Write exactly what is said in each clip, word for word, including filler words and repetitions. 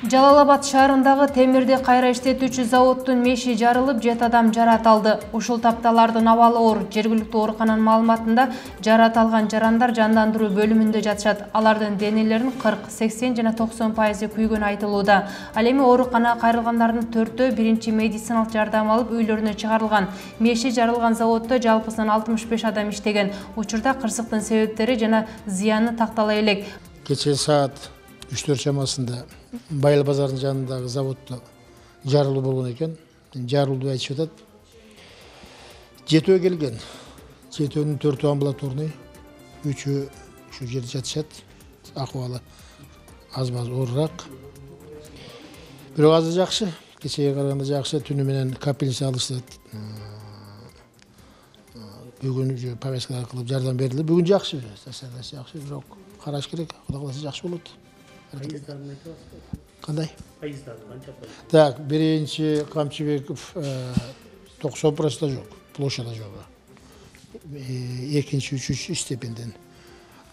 Жалал Абад шаарындагы темирди кайра иштетүүчү заводдун меши жарылып, жети адам жарат алды. Ушул тапталардын абалы оор. Жергиликтүү оорукананын маалыматында жарат алган жарандар жандандыруу бөлүмүндө жатышат. Алардын денелеринин кырк, сексен жана токсон пайызы күйгөнү айтылууда. Ал эми ооруканага кайрылгандардын төртөө биринчи медициналык жардам алып үйлөрүнө чыгарылган. Меши жарылган заводдо жалпысынан алтымыш беш адам иштеген. Учурда кырсыктын себептери жана зыяны тактала элек. Кечээ саат үч төрт чамасында Байыл базарынын жанындагы заводдо жарылуу болгон экен. Жарылууду айтышып атат. Жетөө келген. Жетөөнүн төртөө амбулаторный, үчөө ушу жерде жатышат. Акыбалы аз-маз оорураак. Бирок азыр жакшы. Кечээге караганда жакшы. Түнү менен капельница алышат. Бүгүн уже повязкалар кылып жардам берилди. Бүгүн жакшы. Жакшы, бирок караш керек. Кудай кааласа жакшы болот. Кандай? Пайыздары канча пайыз? Так, биринчи Камчыбеков токсон процент жок, площада жок. Экинчи, үчүнчү степенден.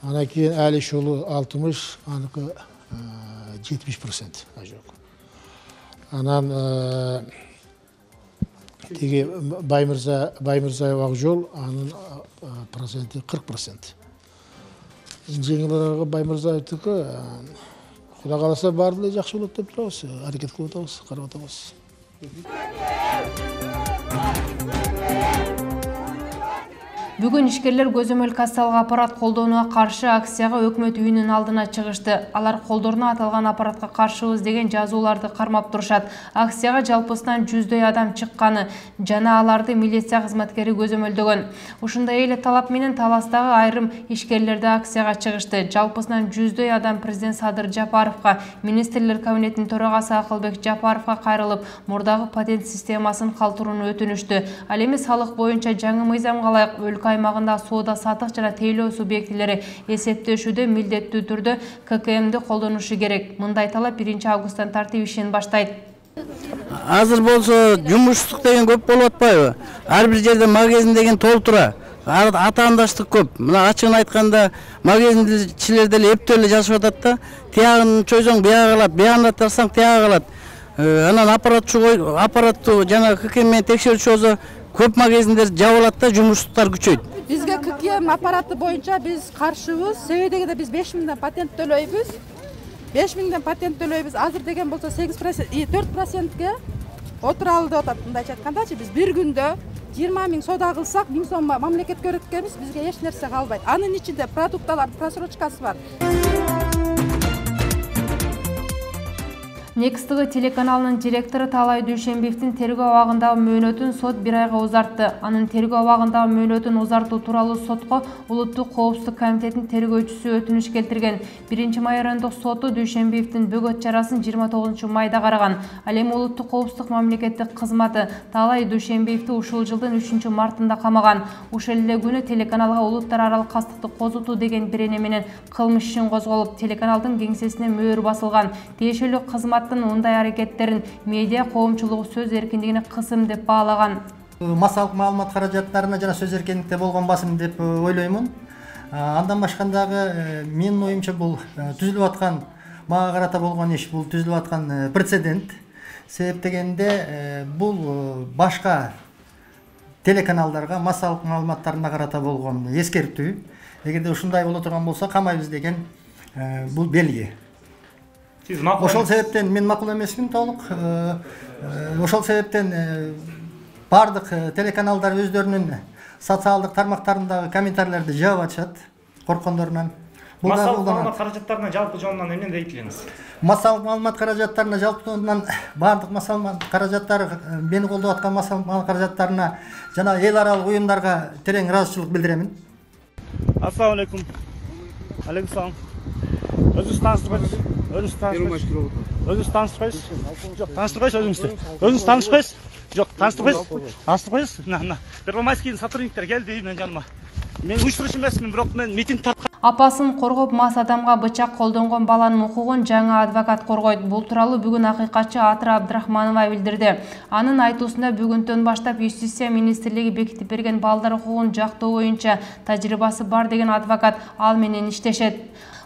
Анан кийин Алиш уулу алтымыш, аныкы жетимиш процент жок. Анан тиги Баймырза, Баймырзаев Акжол, анын проценти кырк процент. Жеңилирээги Баймырзаевдики Кудай кааласа баары эле жакшы болот деп турабыз, аракет кылып атабыз, карап атабыз. Бүгүн ишкерлер көзөмөл кассалык аппарат колдонууга каршы акцияга өкмөт үйүнүн алдына чыгышты. Алар колдоруна аталган аппаратка каршыбыз деген жазууларды кармап турушат. Акцияга жалпысынан жүздөй адам чыкканы жана аларды милиция кызматкери көзөмөлдөгөн. Ушундай эле талап менен Таластагы айрым ишкерлер да акцияга чыгышты. Жалпысынан жүздөй адам президент Садыр Жапаровго, министрлер кабинетинин төрагасы Акылбек Жапаровго кайрылып, мурдагы патент системасын калтырууну өтүнүштү. Ал эми салык боюнча жаңы мыйзамга ылайык өлкө аймагында соода сатык жана тейлөө субъектилери эсептешүүдө милдеттүү түрдө К К М'ди колдонушу керек. Мындай талап биринчи августтан тартип ишин баштайт. Азыр болсо жумуштук деген көп болуп атпайбы? Ар бир жерде магазин деген толтура. Атаандаштык көп. Мына ачыгын айтканда магазиндичилер деле эптөө эле жашап атат да. Тиягын чойсоң бияга калат, биягын тарсаң тияга калат. Анан аппаратчы аппараттуу жана К К М менен текшерүүчү болсо көп магазиндер жабылат да, жумуштуктар күчөйт. Бизге К К М аппараты боюнча биз каршыбыз. Себеби дегенде биз беш миңден патент төлөйбүз. беш миңден патент төлөйбүз. Азыр деген болсо сегиз процент, төрт процентке отуралы деп атат. Мындайча айткандачы биз бир күндө жыйырма миң соода кылсак, миң сом мамлекетке өткөнбүз, бизге эч нерсе калбайт. Анын ичинде продукталар просрочкасы бар. Некстыгы телеканалынын директору Талай Дүйшембиевдин тергөө абагындагы мөөнөтүн сот бир айга узартты. Анын тергөө абагындагы мөөнөтүн узартуу тууралуу сотко Улуттук коопсуздук комитетинин тергөөчүсү өтүнүш келтирген. биринчи май райондук соту Дүйшембиевдин бөгөт чарасын жыйырма тогузунчу майда караган. Ал эми Улуттук коопсуздук мамлекеттик кызматы Талай Дүйшембиевди ушул жылдын үчүнчү мартында камаган. Ушул эле күнү телеканалга улуттар аралык кастыкты козутуу деген бирене менен кылмыш ишин козголуп, телеканалдын кеңсесине мөөр басылган. Тиешелүү кызмат мындай аракеттерин медиа коомчулугу сөз эркиндигине кысым деп баалаган. Массалык маалымат каражаттарына жана сөз эркиндикте болгон басым деп ойлоймун. Андан башкандагы менин оюмча бул түзүлүп аткан, мага карата болгон иш бул түзүлүп аткан прецедент. Себеп дегенде бул башка телеканалдарга массалык маалыматтарына карата болгон эскертүү. Эгерде ушундай боло турган болсо камайбыз деген бул белги. Ошол себептен мен макул эмесмин толук. Ошол себептен бардык телеканалдар өздөрүнүн социалдык тармактарындагы комментарийлерди жаап атышат корккондорунан. Массалык маалымат каражаттарына жалпы жонунан эмне дейт элеңиз? Массалык маалымат каражаттарына жалпы жонунан бардык массалык каражаттар, мени колдоп аткан массалык маалымат каражаттарына жана эл аралык уюмдарга терең ыраазычылык билдиремин. Ассалам алейкум. Алейкум салам. Өзүңүз тааныштырбайсыз? Өзүңүз тааныштырбайсыз? Өзүңүз тааныштырбайсыз? Жок, тааныштырбайсыз өзүңүздү. Өзүңүз тааныштырбайсыз? Жок, тааныштырбайсыз? Тааныштырбайсыз? Мына, Первомайскийдин сотрудниктери келди менин жаныма. Мен уюштуруучу эмесмин, бирок мен митинг тарткан. Апасын коргоп мас адамга бычак колдонгон баланын укугун жаңы адвокат коргойт. Бул тууралуу бүгүн акыйкатчы Атыра Абдрахманова билдирди. Анын айтуусунда бүгүндөн баштап Юстиция министрлиги бекитип берген балдар укугун жактоо боюнча тажрыйбасы бар деген адвокат ал менен иштешет.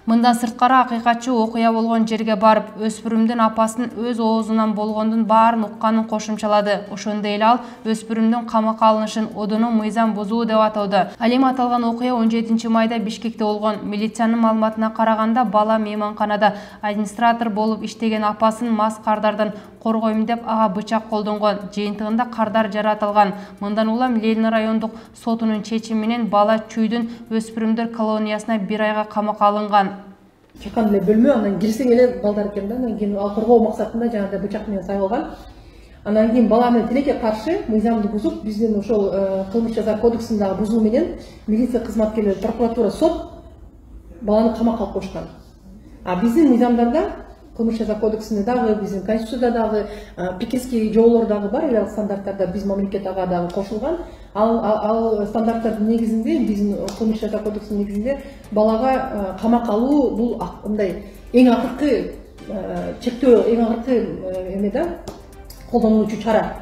Мындан сырткары акыйкатчы окуя болгон жерге барып, өспүрүмдүн апасын өз оозунан болгондун баарын укканын кошумчалады. Ошондой эле ал өспүрүмдүн камакка алынышын одоно мыйзам бузуу деп атоодо. Ал эми аталган окуя он жетинчи майда Бишкекте болгон. Милициянын маалыматына караганда, бала мейманканада администратор болуп иштеген апасын мас кардардан коргойм деп ага бычак колдонгон. Жыйынтыгында кардар жаратылган. Мындан улам Ленин райондук сотунун чечими менен бала Чүйдүн өспүрүмдөр колониясына бир айга камакка алынган. Чакан эле бөлмө, анан кирсең эле балдар экен да, анан кийин ал коргоо максатында жанагындай бычак менен сайылган. Анан кийин баланы тилекке каршы мыйзамды бузуп, биздин ошол кылмыш жаза кодексиндагы бузуу менен милиция кызматкерлери, прокуратура, сот баланы камакка алып коюшкан. А биздин мыйзамдарда, кылмыш жаза кодексинде дагы, биздин конституцияда дагы, пекинский жоболор дагы бар, эл аралык стандарттарда биз мамлекет ага дагы кошулган. Ал ал стандарттардын негизинде, биздин кылмыш жаза кодексинин негизинде балага камакка алуу бул мындай эң акыркы чектөө, эң акыркы эме да, колдонулуучу чара.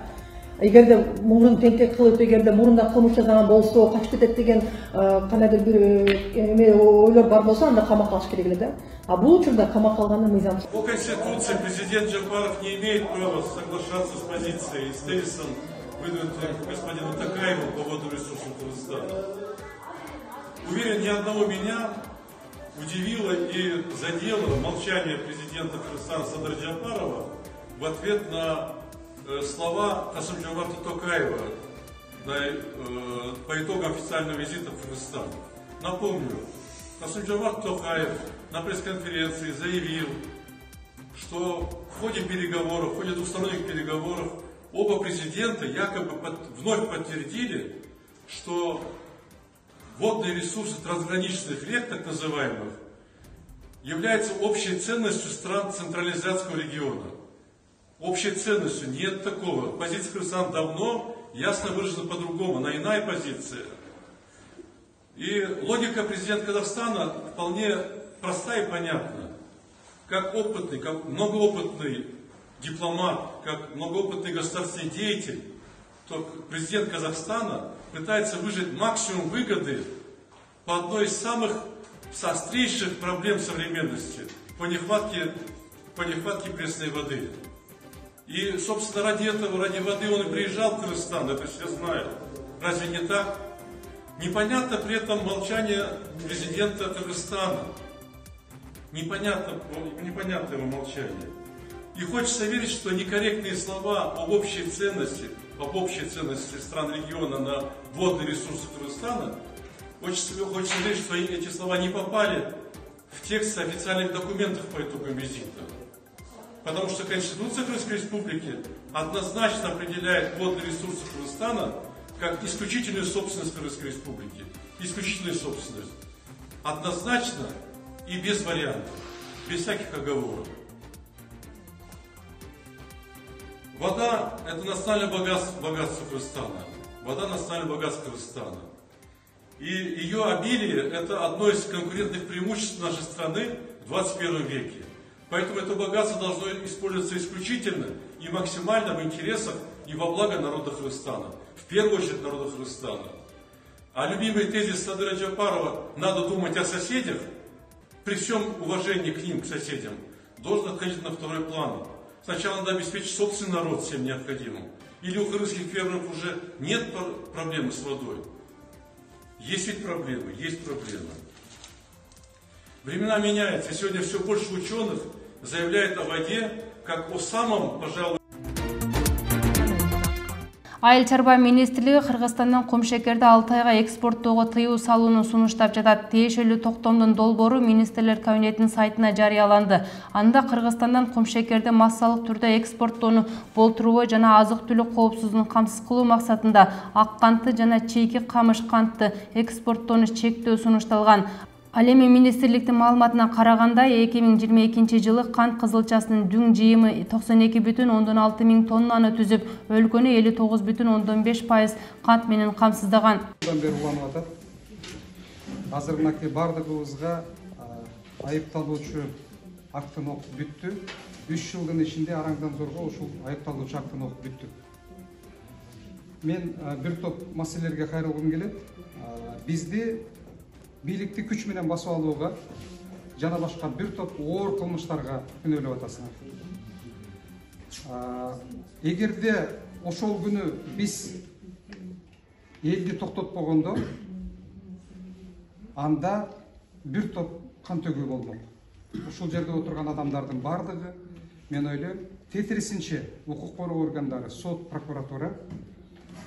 Эгерде мурун теңкек кылып, эгерде мурунда кылмыш жасаган болсо, качып кетет деген кандайдыр бир эме ойлор бар болсо, анда камакка алыш керек эле да. А бул учурда камакка алганы мыйзам. По Конституции президент Джапаров не имеет права соглашаться с позицией и с тезисом, выдвинутым господину Токаеву по водным ресурсам Кыргызстана. Уверен, ни одного меня удивило и задело молчание президента Кыргызстана Садыра Джапарова в ответ на э, слова Касым-Жомарта Токаева на, э, по итогам официального визита в Кыргызстан. Напомню, Касым-Жомарт Токаев на пресс-конференции заявил, что в ходе переговоров, в ходе двусторонних переговоров оба президента якобы под, вновь подтвердили, что водные ресурсы трансграничных рек, так называемых, являются общей ценностью стран Центральноазиатского региона. Общей ценностью нет такого. Позиция Кыргызстана давно ясно выражена по-другому, она иная позиция. И логика президента Казахстана вполне проста и понятна. Как опытный, как многоопытный дипломат, как многоопытный государственный деятель, то президент Казахстана пытается выжать максимум выгоды по одной из самых острейших проблем современности по нехватке, по нехватке пресной воды. И, собственно, ради этого, ради воды он и приезжал в Кыргызстан, это все знают. Разве не так? Непонятно при этом молчание президента Кыргызстана. Непонятно, непонятно его молчание. И хочется верить, что некорректные слова об общей ценности, об общей ценности стран региона на водные ресурсы Кыргызстана, хочется, хочется верить, что эти слова не попали в текст официальных документов по итогам визита. Потому что Конституция Кыргызской Республики однозначно определяет водные ресурсы Кыргызстана как исключительную собственность Кыргызской Республики. Исключительную собственность. Однозначно и без вариантов, без всяких оговорок. Вода – это национальное богатство, богатство Кыргызстана. Вода – национальное богатство Кыргызстана. И ее обилие – это одно из конкурентных преимуществ нашей страны в двадцать первом веке. Поэтому это богатство должно использоваться исключительно и максимально в интересах и во благо народа Кыргызстана. В первую очередь народа Кыргызстана. А любимый тезис Садыра Джапарова «надо думать о соседях», при всем уважении к ним, к соседям, должен отходить на второй план. Сначала надо обеспечить собственный народ всем необходимым. Или у кыргызских фермеров уже нет проблемы с водой? Есть ведь проблемы, есть проблемы. Времена меняются, и сегодня все больше ученых заявляет о воде как о самом, пожалуй, Айыл чарба министрлиги Кыргызстандан кумшекерди алты айга экспорттоого тыюу салууну сунуштап жатат. Тиешелүү токтомдун долбоору министрлер кабинетинин сайтына жарыяланды. Анда Кыргызстандан кумшекерди массалык түрдө экспорттоону болтурбой жана азык-түлүк коопсуздугун камсыз кылуу максатында ак кантты жана чийки камыш кантты экспорттоону чектөө сунушталган. Ал эми министрликтин маалыматына караганда эки миң жыйырма экинчи жылы кант кызылчасынын дүң жыйымы токсон эки бүтүн ондон алты миң тоннаны түзүп, өлкөнү элүү тогуз бүтүн ондон беш пайыз кант менен камсыздаган. Азыркы бардыгыбызга айыпталуучу актын окуп бүттү. үч жылдын ичинде араңдан зорго ушул айыпталуучу актын окуп бүттүк. Мен бир топ маселелерге кайрылгым келет. Бизди бийликти күч менен басып алууга жана башка бир топ оор кылмыштарга күнөөлөп атасыңар. Эгерде ошол күнү биз элди токтотпогондо, анда бир топ кан төгүү болмок. Ушул жерде отурган адамдардын бардыгы, мен ойлойм, тетирисинче укук коргоо органдары, сот, прокуратура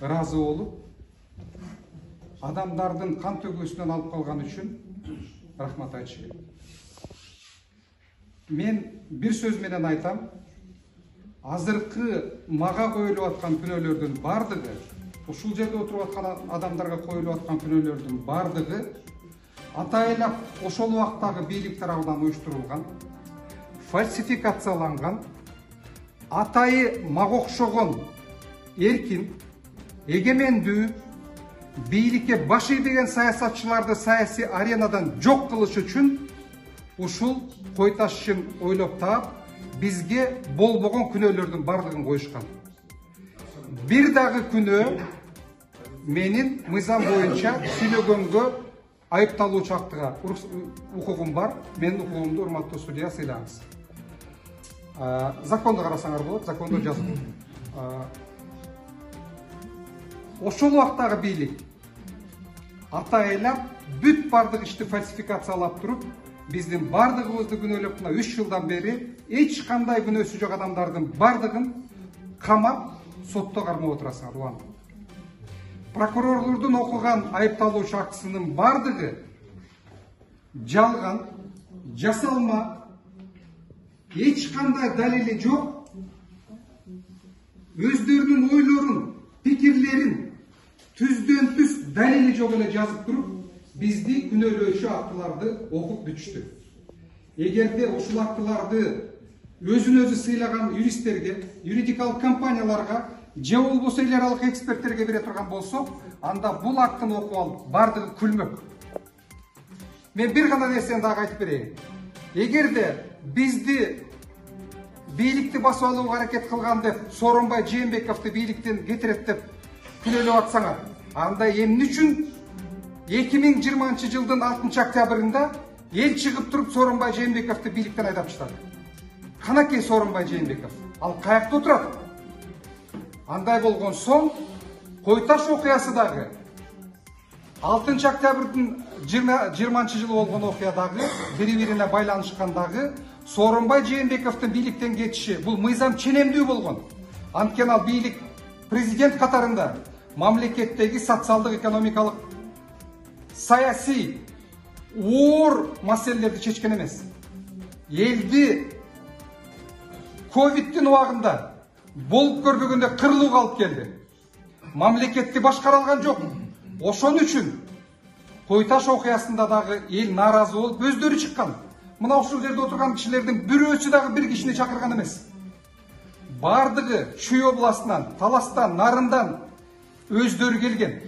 ыраазы болуп, адамдардын кан төгүүсүнөн алып калган үчүн рахмат айтыш керек. Мен бир сөз менен айтам, азыркы мага коюлуп аткан күнөөлөрдүн бардыгы, ушул жерде отуруп аткан адамдарга коюлуп аткан күнөөлөрдүн бардыгы атайлап ошол убактагы бийлик тарабынан уюштурулган, фальсификацияланган, атайы мага окшогон эркин, эгемендүү, бийликке баш ийбеген саясатчыларды саясий аренадан жок кылыш үчүн ушул кой ташын ойлоп таап, бизге болбогон күнөөлөрдүн бардыгын коюшкан. Бир дагы күнөө менин мыйзам боюнча сүйлөгөнгө айыпталуучу актыга укугум бар. Менин укугумду урматтуу судья сыйлагыңыз. Законду карасаңар болот, закондо жазылган. Ошол убактагы бийлик атайлап бүт бардык ишти фальсификациялап туруп, биздин бардыгыбызды күнөөлөп, мына үч жылдан бери эч кандай күнөөсү жок адамдардын бардыгын камап, сотто кармап отурасыңар. Улан. Прокурорлордун окуган айыпталуучу актысынын бардыгы жалган, жасалма, эч кандай далили жок, өздөрүнүн ойлорун, пикирлерин түздөн түз далили жок эле жазып туруп, бизди күнөөлөөчү актыларды окуп бүтүштү. Эгерде ушул актыларды өзүн өзү сыйлаган юристтерге, юридикалык компанияларга же болбосо эл аралык эксперттерге бере турган болсок, анда бул актыны окуп алып бардыгы күлмөк. Мен бир гана нерсени дагы айтып берейин. Эгерде бизди бийликти басып алууга аракет кылган деп Сооронбай Жээнбековду бийликтен кетирет деп күнөөлөп атсаңар, анда эмне үчүн эки миң жыйырманчы жылдын алтынчы октябрында эл чыгып туруп Сооронбай Жээнбековду бийликтен айдап таштады? Канакей Сооронбай Жээнбеков? Ал каякта отурат? Андай болгон соң, Кой таш окуясы дагы алтынчы октябрдын жыйырманчы жылы болгон окуя дагы бири-бирине байланышкан дагы Сооронбай Жээнбековдун бийликтен кетиши бул мыйзам ченемдүү болгон. Анткени ал бийлик президент катарында мамлекеттеги социалдык, экономикалык, саясий оор маселелерди чечкен эмес. Элди ковидтин убагында болуп көрбөгөндө кырылууга алып келди. Мамлекетти башкара алган жок. Ошон үчүн Кой таш окуясында дагы эл нааразы болуп өздөрү чыккан. Мына ушул жерде отурган кишилердин бирөөсү дагы бир кишини чакырган эмес. Бардыгы Чүй областынан, Таластан, Нарындан өздөрү келген.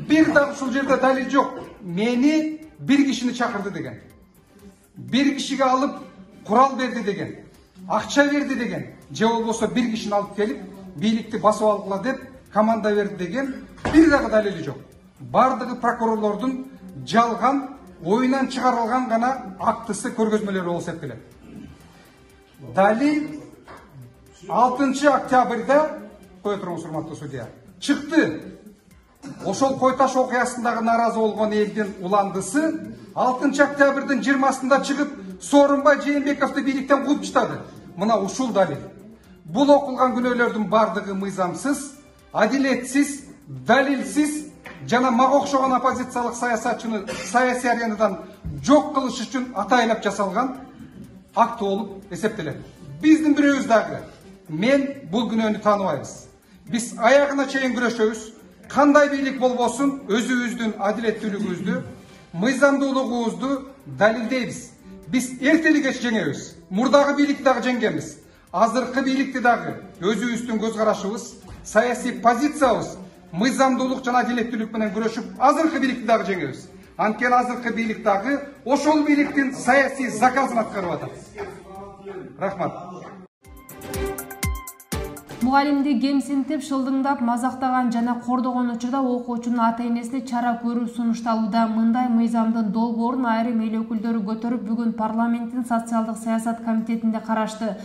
Бир дагы ушул жерде далил жок. Мени бир кишини чакырды деген. Бир кишиге алып курал берди деген. Акча берди деген. Же болбосо бир кишини алып келип бийликти басып алгыла деп команда берди деген бир дагы далили жок. Бардыгы прокурорлордун жалган, оюнан чыгарылган гана актысы, көргөзмөлөрү болуп эсептелет. Далил алтынчы октябрда, кое туруңуз урматтуу судья, чыкты. Ошол Кой таш окуясындагы нааразы болгон элдин уландысы алтынчы октябрдын жыйырмасында чыгып Сооронбай Жээнбековду бийликтен кууп таштады. Мына ушул далил. Бул окулган күнөөлөрдүн бардыгы мыйзамсыз, адилетсиз, далилсиз жана мага окшогон оппозициялык саясатчыны саясий аренадан жок кылыш үчүн атайлап жасалган акт болуп эсептелет. Биздин бирөөбүз дагы мен бул күнөөнү тааныбайбыз. Биз аягына чейин күрөшөбүз. Кандай бийлик болбосун өзүбүздүн адилеттүүлүгүбүздү, мыйзамдуулугубузду далилдейбиз. Биз эртели кеч жеңебиз. Мурдагы бийликти дагы жеңгенбиз. Азыркы бийликти дагы өзүбүздүн көз карашыбыз, саясий позициябыз, мыйзамдуулук жана адилеттүүлүк менен күрөшүп, азыркы бийликти дагы жеңебиз. Анткени азыркы бийлик дагы ошол бийликтин саясий заказын аткарып атат. Рахмат. Мугалимди кемсинтип, шылдыңдап, мазактаган жана кордогон учурда окуучунун ата-энесине чара көрүү сунушталууда. Мындай мыйзамдын долбоорун айрым эл өкүлдөрү көтөрүп, бүгүн парламенттин социалдык саясат комитетинде карашты.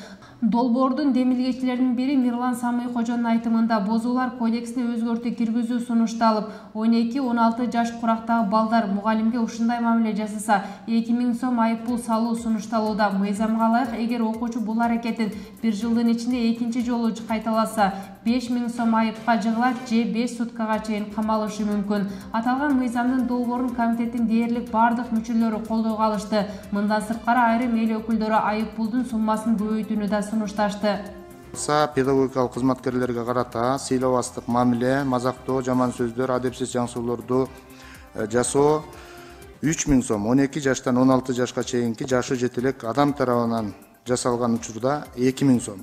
Долбоордун демилгечилеринин бири Мирлан Самый-Кожонун айтымында бозуулар кодексине өзгөртүү киргизүү сунушталып, он эки он алты жаш курактагы балдар мугалимге ушундай мамиле жасаса, эки миң сом айыппул салуу сунушталууда. Мыйзамга ылайык, эгер окуучу бул аракетин бир жылдын ичинде экинчи жолу кайталаса, беш миң сом айыпка жыгылат же беш суткага чейин камалышы мүмкүн. Аталган мыйзамдын долбоорун комитеттин дээрлик бардык мүчөлөрү колдоого алышты. Мындан сырткары айрым эл өкүлдөрү айыппулдун суммасын көбөйтүүнү да сунушташты. Педагогикалык кызматкерлерге карата сыйлабастык мамиле, мазактоо, жаман сөздөр, адепсиз жаңсоолорду жасоо үч миң сом, он эки жаштан он алты жашка чейинки жашы жете элек адам тарабынан жасалган учурда эки миң сом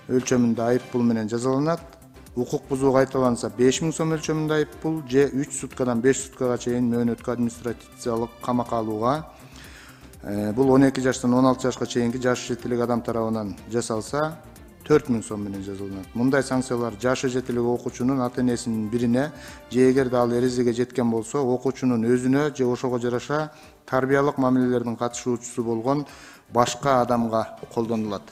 өлчөмүндө айыппул менен жазаланат. Укук бузуу кайталанса беш миң сом өлчөмүндө айыппул же үч суткадан беш суткага чейин мөөнөткө административдик камакка алууга. Бул он эки жаштан он алты жашка чейинки жашы жете элек адам тарабынан жасалса төрт миң сом менен жазаланат. Мындай санкциялар жашы жете элек окуучунун ата-энесинин бирине же эгерде ал эрезеге жеткен болсо, окуучунун өзүнө же ошого жараша тарбиялык мамилелердин катышуучусу болгон башка адамга колдонулат.